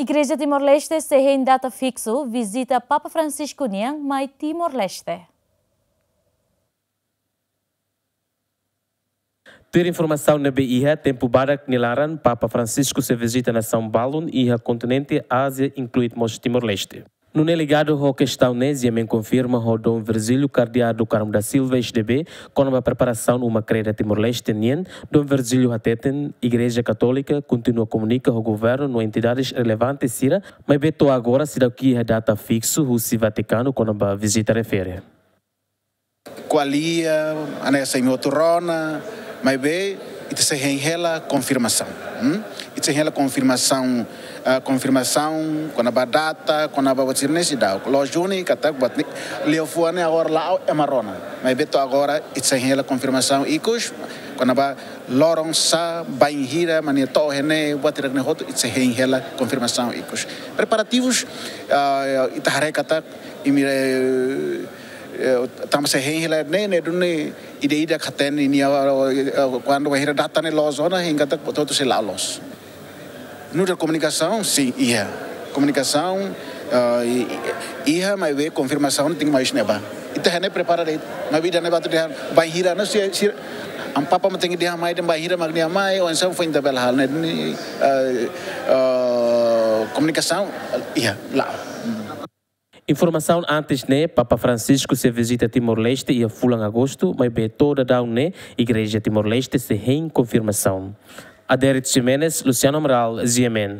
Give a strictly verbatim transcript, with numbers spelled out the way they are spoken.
Igreja Timor-Leste sei hein data fiksu vizita Papa Francisco nian mai Timor-Leste. Tuir informasaun ne'ebé iha, tempu badak nia laran Papa Francisco sei vizita nasaun balun iha kontinente Ázia, inklui mós Timor-Leste. Nune'e, ligadu ho kestaun ne'e, G M N konfirma ho Dom Virgílio Cardeal do Carmo da Silva, S D B, kona-ba preparasaun uma kreda Timor-Leste nian. Dom Virgílio hateten, Igreja Katólika kontinua komunika ho governu no entidades relevante sira, maibé to'o agora seidauk iha data fiksu husi Vatikanu kona-ba vizita refere. Ko'alia, hanesan imi hotu rona, maibé ita sei hein hela konfirmasaun. Hmm? Ita sei hein hela konfirmasaun, ah, konfirmasaun kona-ba data, kona-ba buat sira-ne'e seidauk. Loos duni katak buat ne'e, liafuan ne'e agora la'o ema rona. Maibé to'o agora ita sei hein hela konfirmasaun ikus kona-ba loron sá, bainhira mak nia to'o iha ne'e, buat hirak-ne'e hotu ita sei hein hela konfirmasaun ikus. Preparativus, ah, ita haree katak imi, eh, eh, tanba sei hein hela ne'e, ne'e duni ida-idak hatene nia, eh, eh, kuandu bainhira data ne'e loos ona, hein katak hotu-hotu sei la'o loos. Nu'udar komunikasaun, sin, iha. Komunikasaun, eh, i-, i-, iha, maibé konfirmasaun tenke mai husi ne'ebá. Ita hein ne'e prepara de'it, maibé ida-ne'e bá atu dehan bainhira, no si, si, Amu Papa mak tenke dehan mai dehan bainhira mak nia mai, oinsá foin ita bele halo ne'e, ni, eh, eh, komunikasaun, iha, la'o. Informasaun antes ne'e, Papa Francisco sei vizita Timor-Leste iha fulan Agostu, maibé to'o daudaun ne'e Igreja Timor-Leste sei hein konfirmasaun. Adérito Ximenes, Luciano Amaral, G M N.